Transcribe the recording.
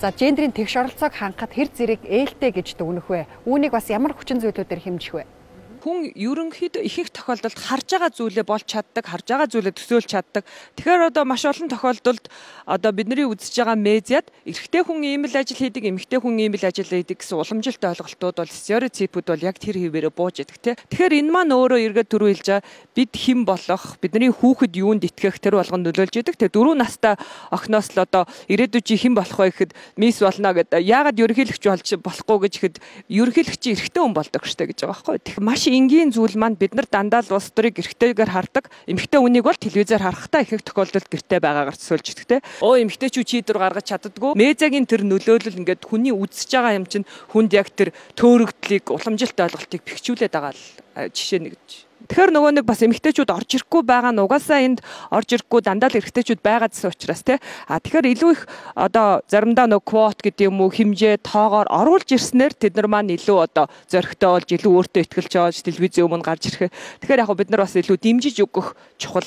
За гендрийн тэгш оролцоог хангахад хэр зэрэг ээлтэй гэж дүгнэх вэ? Үүнийг бас ямар хүчин зүйлүүдээр хэмжих вэ? Хүн ерөнхийдөө ихэнх тохиолдолд харж байгаа зүйлээ болж чаддаг, харж байгаа зүйлээ төсөөлж чаддаг. Тэгэхээр одоо маш олон тохиолдолд одоо бидний үзэж байгаа медиад эрэгтэй хүн ийм л ажил хийдэг, эмэгтэй хүн ийм л ажил хийдэг гэсэн уламжилт ойлголтууд бол стереотипүүд бол яг тэр хэвээрээ бууж идэг тий. Тэгэхээр энэ маань өөрөө эргээд түрүү хэлж байгаа бид хэн болох, бидний хүүхэд юунд итгэх тэр болгонд нөлөөлж идэг. Тэгээ 4 настай охиноос л одоо ирээдүйд чи хэн болох вэ гэхэд мисс болно гэдэг. Яагаад ерөнхийлөгч болж болохгүй гэж ихэд ерөнхийлөгч эрэгтэй хүн болдог штэ гэж байгаа байхгүй. Тэгэхээр маш энгийн зүйл маань бид нар дандаа л улс төрийг эрэгтэйгээр хардаг. Эмэгтэй хүнийг бол телевизээр харахтаа их тохиолдолд гэртээ байгаагаар төсөөлж идэгтэй. Эмэгтэйчүүд чийдвэр гаргаж чаддаггүй. Медиагийн тэр нөлөөлөл ингээд хүний үзэж байгаа юм чинь хүнд яг тэр төөрөгдлийг, уламжилт ойлголтыг бэхжүүлээд байгаа л жишээ нэг гэж. Тэгэхээр нөгөө нэг бас эмэгтэйчүүд орж ирэхгүй байгаа нь угаасаа энд орж ирэхгүй дандаа л эрэгтэйчүүд байгаадсэн учраас тий. Тэгэхээр илүү их одоо заримдаа нөгөө квот гэдэг юм уу хэмжээ тоогоор оруулж ирснээр тэд нар маань илүү одоо зөрөгтэй болж илүү өөртөө ихтгэлж байгаа телевизийн өмнө гарч ирэхээ. Тэгэхээр яг бид нар бас илүү дэмжиж өгөх чухал